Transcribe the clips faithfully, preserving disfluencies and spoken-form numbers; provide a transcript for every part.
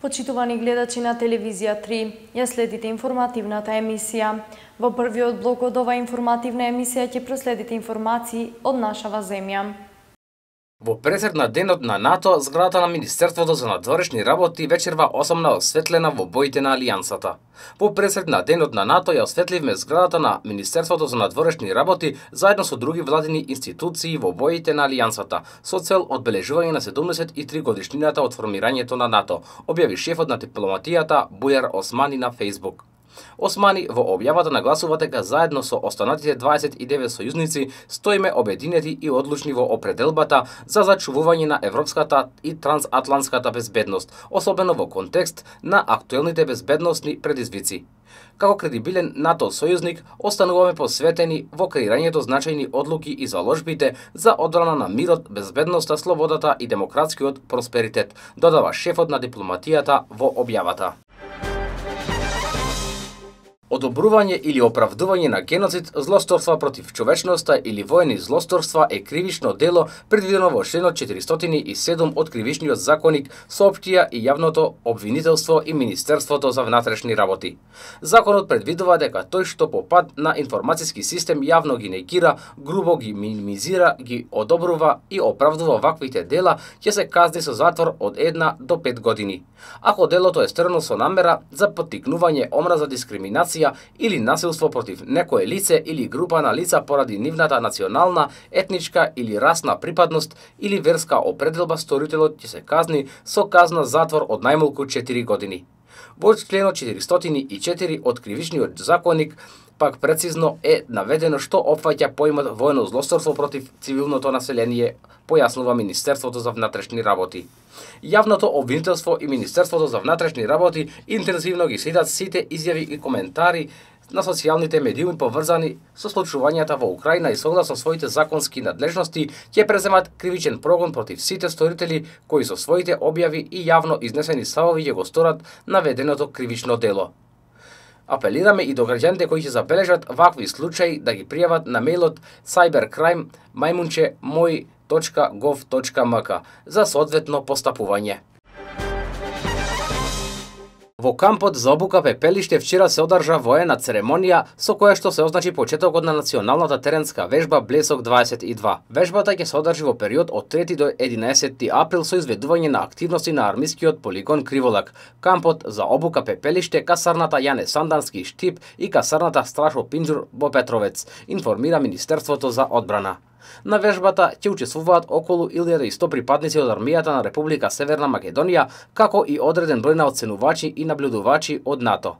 Почитувани гледачи на телевизија три, ја следите информативната емисија. Во првиот блок од оваа информативна емисија ќе проследите информации од нашава земја. Во пресед на денот на НАТО, зградата на Министерството за надворешни работи вечерва осамна осветлена во боите на Алијансата. Во пресед на денот на НАТО ја осветливме зградата на Министерството за надворешни работи заедно со други владини институции во боите на Алијансата, со цел одбележување на седумдесет и три годишнината од формирањето на НАТО, објави шефот на дипломатијата Бујар Османи на Facebook. Османи во објавата нагласува дека заедно со останатите дваесет и девет сојузници стоиме обединети и одлучни во определбата за зачувување на европската и трансатлантската безбедност, особено во контекст на актуелните безбедносни предизвици. Како кредибилен НАТО сојузник, остануваме посветени во креирањето значајни одлуки и заложбите за одбрана на мирот, безбедноста, слободата и демократскиот просперитет, додава шефот на дипломатијата во објавата. Одобрување или оправдување на геноцид, злосторства против човечноста или воени злосторства е кривично дело предвидено во членот четиристотини и седум од Кривичниот законник, соопштија и јавното обвинителство и Министерството за внатрешни работи. Законот предвидува дека тој што по пат на информациски систем јавно ги негира, грубо ги минимизира, ги одобрува и оправдува ваквите дела, ќе се казни со затвор од една до пет години. Ако делото е сторено со намера за поттикнување омраза, дискриминација или насилство против некое лице или група на лица поради нивната национална, етничка или расна припадност или верска определба, сторителот ќе се казни со казна затвор од најмалку четири години. Во членот четиристотини и четири од Кривичниот законник пак прецизно е наведено што опфаќа поимот воено злосторство против цивилното население, појаснува Министерството за внатрешни работи. Јавното обвинителство и Министерството за внатрешни работи интензивно ги следат сите изјави и коментари на социјалните медиуми поврзани со случувањата во Украина и согласно своите законски надлежности ќе преземат кривичен прогон против сите сторители кои со своите објави и јавно изнесени ставови ќе го сторат наведеното кривично дело. Апелираме и до граѓаните кои ќе забележат вакви случаи да ги пријават на мејлот cybercrime мајмунче мој точка гов точка мк за соодветно постапување. Во кампот за обука Пепелиште вчера се одржа воена церемонија со која што се означи почетокот на националната теренска вежба Блесок дваесет и два. Вежбата ќе се одржи во период од трети до единаесети април со изведување на активности на армискиот полигон Криволак, кампот за обука Пепелиште, касарната Јане Сандански Штип и касарната Страшо Пинџур во Петровец, информира Министерството за одбрана. На вежбата ќе учествуваат околу илјада и сто припадници од армијата на Република Северна Македонија, како и одреден број на оценувачи и наблюдувачи од НАТО.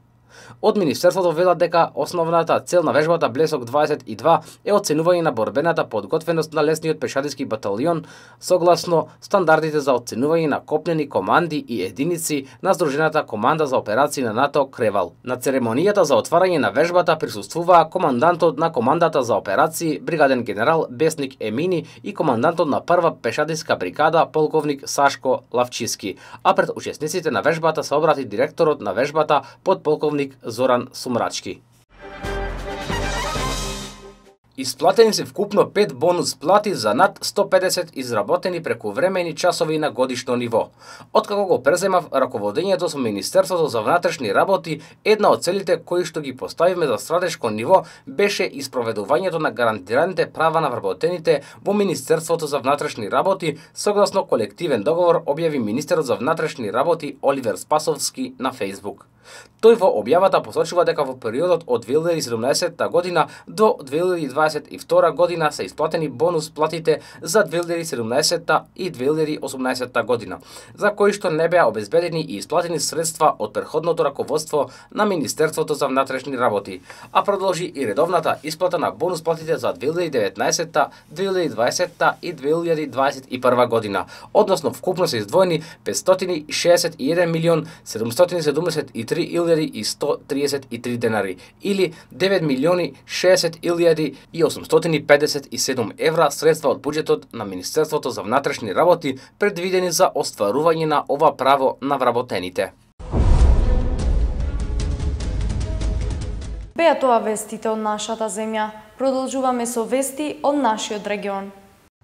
Од Министерството велат дека основната цел на вежбата Блесок дваесет и два е оценување на борбената подготвеност на лесниот пешадиски баталион согласно стандардите за оценување на копнени команди и единици на Здружената команда за операции на НАТО Кревал. На церемонијата за отварање на вежбата присуствуваа командантот на командата за операции бригаден генерал Бесник Емини и командантот на прва пешадиска бригада полковник Сашко Лавчиски, а пред учесниците на вежбата се обрати директорот на вежбата подполковник Зоран Сумрачки. Исплатени се вкупно пет бонус плати за над сто педесет изработени прекувремени часови на годишно ниво. Откако го преземав раководењето со Министерството за внатрешни работи, една од целите кои што ги поставивме за стратешко ниво беше испроведувањето на гарантираните права на вработените во Министерството за внатрешни работи согласно колективен договор, објави министерот за внатрешни работи Оливер Спасовски на Facebook. Тој во објавата посочува дека во периодот од две илјади и седумнаесетта година до две илјади дваесет и втора година се исплатени бонус платите за две илјади и седумнаесетта и две илјади и осумнаесетта година, за кои што не беа обезбедени и исплатени средства од претходното раководство на Министерството за внатрешни работи, а продолжи и редовната исплата на бонус платите за две илјади и деветнаесетта, две илјади и дваесетта и две илјади дваесет и прва година, односно вкупно се издвоени петстотини и шеесет и еден милион седумстотини седумдесет и три илјади и сто тридесет и три денари или девет милиони шеесет илјади и осумстотини педесет и седум евра средства од буџетот на Министерството за внатрешни работи предвидени за остварување на ова право на вработените. Беа тоа вестите од нашата земја. Продолжуваме со вести од нашиот регион.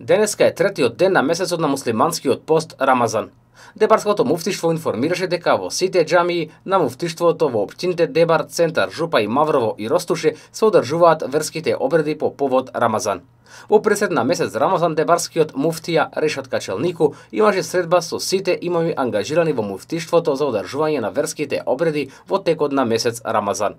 Денеска е третиот ден на месецот на муслиманскиот пост Рамазан. Дебарското муфтиштво информираше дека во сите џамии на муфтиштвото во општините Дебар, Центар, Жупа и Маврово и Ростуше се одржуваат верските обреди по повод Рамазан. Во пресед на месец Рамазан дебарскиот муфтија Решат Качелнику имаше средба со сите имами ангажирани во муфтиштвото за одржување на верските обреди во текот на месец Рамазан.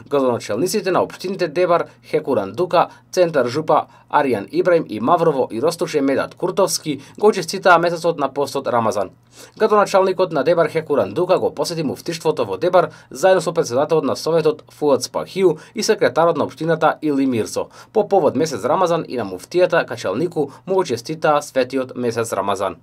Градоначелниците на општините Дебар, Хекуран Дука, Центар Жупа, Аријан Ибраим и Маврово и Ростуше Медат Куртовски го честитаа месецот на постот Рамазан. Градоначалникот на Дебар Хекуран Дука го посети муфтиштвото во Дебар заедно со претседателот на советот Фуад Спахиу и секретарот на општината Или Мирсо. По повод месец Рамазан и на муфтијата Качелнику му го честитаа светиот месец Рамазан.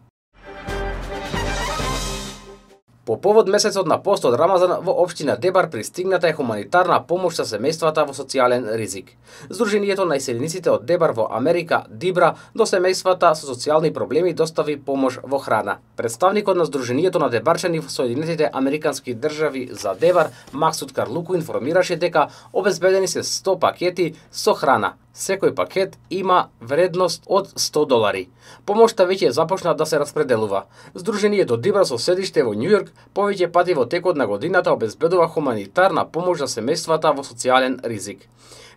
По повод месецот на постот Рамазан во општина Дебар пристигната е хуманитарна помош за семејствата во социјален ризик. Сдруженијето на иселениците од Дебар во Америка, Дибра, до семејствата со социјални проблеми достави помош во храна. Представникот на Сдруженијето на дебарчани во Соединетите Американски држави за Дебар, Максут Карлуку, информираше дека обезбедени се сто пакети со храна. Секој пакет има вредност од сто долари. Помошта веќе започна да се распределува. Сдруженијето Дибра со седиште во Њујорк повеќе пати во текот на годината обезбедува хуманитарна помош за семејствата во социјален ризик.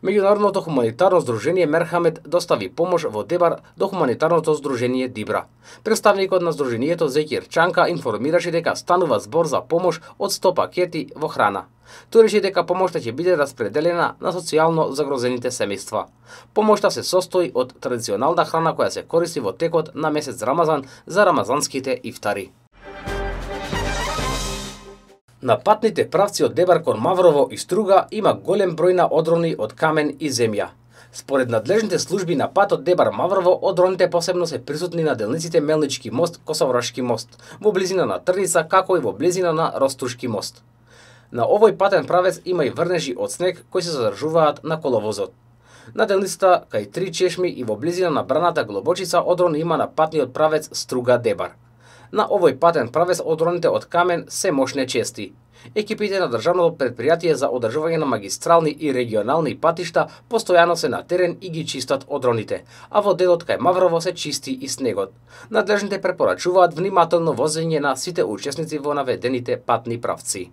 Меѓународното хуманитарно здружение Мерхамет достави помош во Дебар до хуманитарното здружение Дибра. Представникот на здруженијето Зекир Чанка информираше дека станува збор за помош од сто пакети во храна. Тој рече дека помошта ќе биде распределена на социјално загрозените семејства. Помошта се состои од традиционална храна која се користи во текот на месец Рамазан за рамазанските ифтари. На патните правци од Дебар кон Маврово и Струга има голем број на одрони од камен и земја. Според надлежните служби на патот Дебар Маврово, одроните посебно се присутни на делниците Мелнички мост, Косоврашки мост, во близина на Трница, како и во близина на Ростушки мост. На овој патен правец има и врнежи од снег кои се задржуваат на коловозот. На делницата кај Три чешми и во близина на браната Глобочица одрон има на патниот правец Струга Дебар. На овој патен правец одроните од камен се мошне чести. Екипите на Државното претпријатие за одржување на магистрални и регионални патишта постојано се на терен и ги чистат одроните, а во делот кај Маврово се чисти и снегот. Надлежните препорачуваат внимателно возење на сите учесници во наведените патни правци.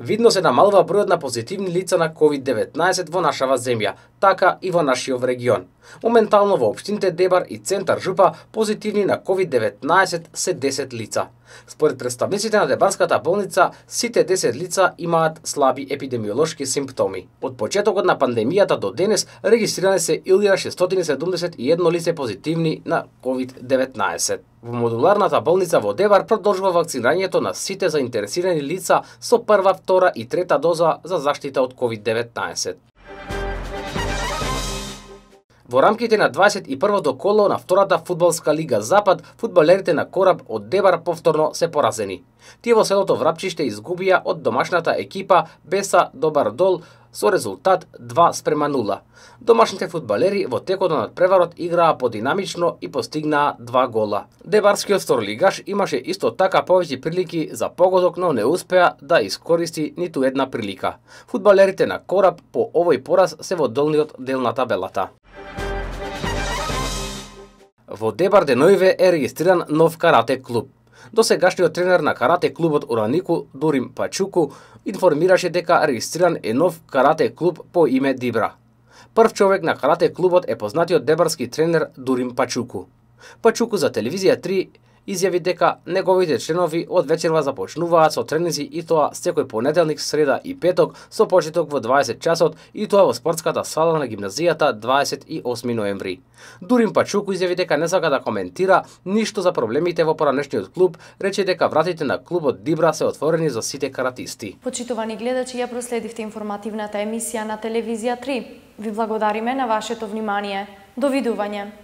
Видно се намалува бројот на позитивни лица на ковид деветнаесет во нашава земја, така и во нашиот регион. Моментално во општините Дебар и Центар Жупа позитивни на ковид деветнаесет се десет лица. Според представниците на Дебарската болница, сите десет лица имаат слаби епидемиолошки симптоми. Од почетокот на пандемијата до денес регистрирани се илјада шестстотини седумдесет и едно лице позитивни на ковид деветнаесет. Во модуларната болница во Дебар продолжува вакцинирањето на сите заинтересирани лица со прва, втора и трета доза за заштита од ковид деветнаесет. Во рамките на дваесет и првото коло на втората фудбалска лига Запад, фудбалерите на Кораб од Дебар повторно се поразени. Тие во селото Врапчиште изгубија од домашната екипа Беса Добар Дол со резултат два спрема нула. Домашните фудбалери во текот на надпреварот играа подинамично и постигнаа два гола. Дебарскиот второлигаш имаше исто така повеќе прилики за погодок, но не успеа да искористи ниту една прилика. Фудбалерите на Кораб по овој пораз се во долниот дел на табелата. Во Дебар деноиве е регистриран нов карате клуб. Досегашниот тренер на карате клубот Уранику, Дурим Пачуку, информираше дека регистриран е нов карате клуб по име Дибра. Прв човек на карате клубот е познатиот дебарски тренер Дурим Пачуку. Пачуку за телевизија три изјави дека неговите членови од вечерва започнуваат со тренинзи и тоа секој понеделник, среда и петок со почеток во дваесет часот и тоа во спортската сала на гимназијата дваесет и осми ноември. Дурим Пачуку изјави дека не сака да коментира ништо за проблемите во поранешниот клуб, рече дека вратите на клубот Дибра се отворени за сите каратисти. Почитувани гледачи, ја проследивте информативната емисија на телевизија три. Ви благодариме на вашето внимание. Довидување.